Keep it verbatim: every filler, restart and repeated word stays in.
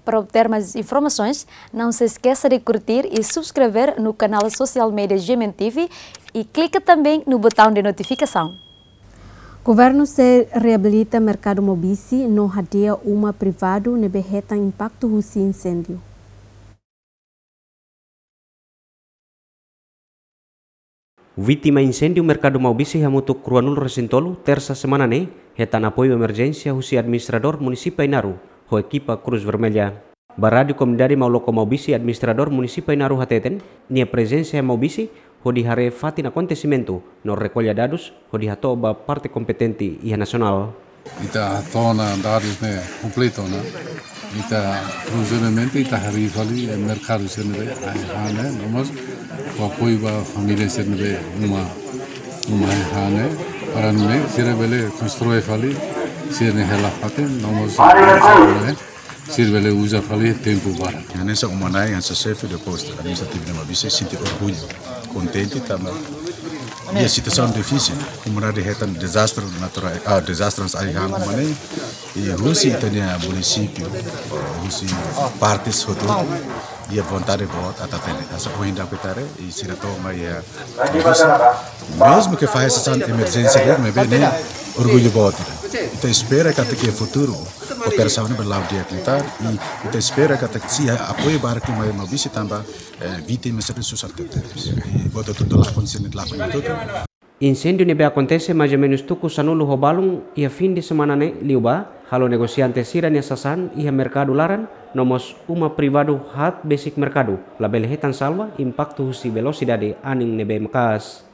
Para obter mais informações, não se esqueça de curtir e subscrever no canal social media G M N T V e clica também no botão de notificação. Governu sei reabilita merkadu Maubisse no hadi'a uma privadu ne'ebé hetan impaktu husi insêndiu. Vítima insêndiu merkadu Maubisse hamutuk ruanulu-resin-tolu, Tersa semana ne'e, hetan apoiu emerjénsia husi administradór munisípiu Ainaro ho ekipa Cruz Vermelha. Ba Rádiu Komunidade Mauloko Maubisse, administradór munisípiu Ainaro hateten, nia prezensa iha Maubisse hodi haree fatin akontesimentu no rekolla dadus hodi hato'o ba parte kompetente iha nasionál. Ita hatene dadus ne'e kompletu ona. Ita provisoriamente ita harii fali, eh, merkadu sira ne'ebé ai-han ne'e, no mós ho apoiu ba família sira ne'ebé uma, uma ai-han ne'e, para nune'e sira bele konstrui fali sira-nia hela fatin, no mós, eh, sira bele uza fali tempu barak. Hanesan uma-na'in, hanesan xefe de postu administrativu de Maubisse, sente orgullu, kontente tanba iha situasaun difisil, komunidade hetan dezastre naturál, ah, dezastre hanesan ai-han uma-na'in, i husi ita-nia munisípiu, husi partes hotu, iha vontade boot atu hatene. Hanesan ohin daudauk ita haree, i sira to'o mai iha, mezmu ke fahe sasán emerjénsia de'it, maibé ne'e orgullu boot ida. Ita espera katak iha futuru kooperasaun ne'e bele la'o di'ak liután, i ita espera katak sei apoiu barak mai Maubisse tanba, eh, vítima sira susar tebes. I buat hotu-hotu lakon, sira-nia lakon hotu-hotu. Insêndiu ne'ebé akontese mais ou menus tuku sanulu ho balun iha fin de semana ne'e liubá, halo negosiante sira-nia sasán iha merkadu laran, no mós uma privadu haat besik merkadu, labele hetan salva, impaktu husi velosidade anin ne'ebé maka'as.